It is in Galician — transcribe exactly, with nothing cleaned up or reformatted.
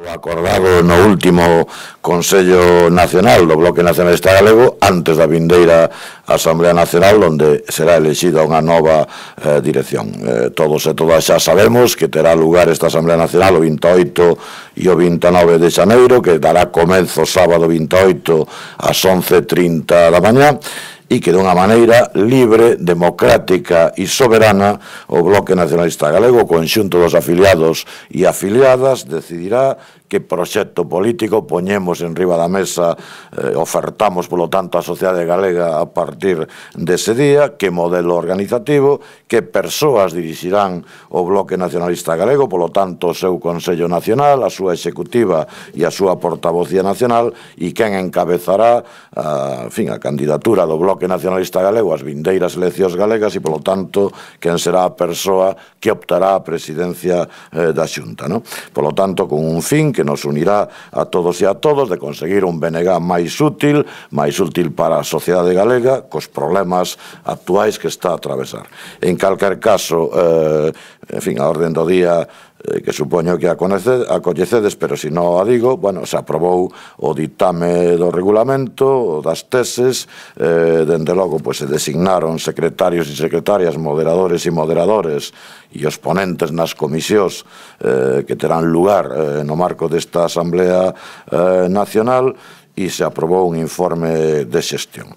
Acordado no último Consello Nacional do Bloque Nacionalista Galego antes da vindeira Asamblea Nacional, onde será elexida unha nova eh, dirección. Eh, todos e todas xa sabemos que terá lugar esta Asamblea Nacional o vinte e oito e o vinte e nove de xaneiro, que dará comenzo sábado vinte e oito ás once e trinta da mañá, e que dunha maneira libre, democrática e soberana o Bloque Nacionalista Galego, o conxunto dos afiliados e afiliadas, decidirá que proxecto político poñemos en riba da mesa, eh, ofertamos, polo tanto, a sociedade galega a partir dese día, que modelo organizativo, que persoas dirixirán o Bloque Nacionalista Galego, polo tanto, o seu Consello Nacional, a súa executiva e a súa portavocía nacional, e quen encabezará a, en fin, a candidatura do Bloque Nacionalista Galego ás vindeiras eleccións galegas e, polo tanto, quen será a persoa que optará a presidencia eh, da Xunta, no? Polo tanto, con un fin que nos unirá a todos e a todos de conseguir un B N G máis útil, máis útil para a sociedade galega, cos problemas actuais que está a atravesar. En calquer caso, eh, en fin, a orden do día eh, que supoño que a coñecedes, pero se non a digo, bueno, se aprobou o ditame do regulamento, das teses, eh, dende logo, pois se designaron secretarios e secretarias, moderadores e moderadores e os ponentes nas comisións eh, que terán lugar eh, no marco desta Asamblea eh, Nacional, e se aprobou un informe de xestión.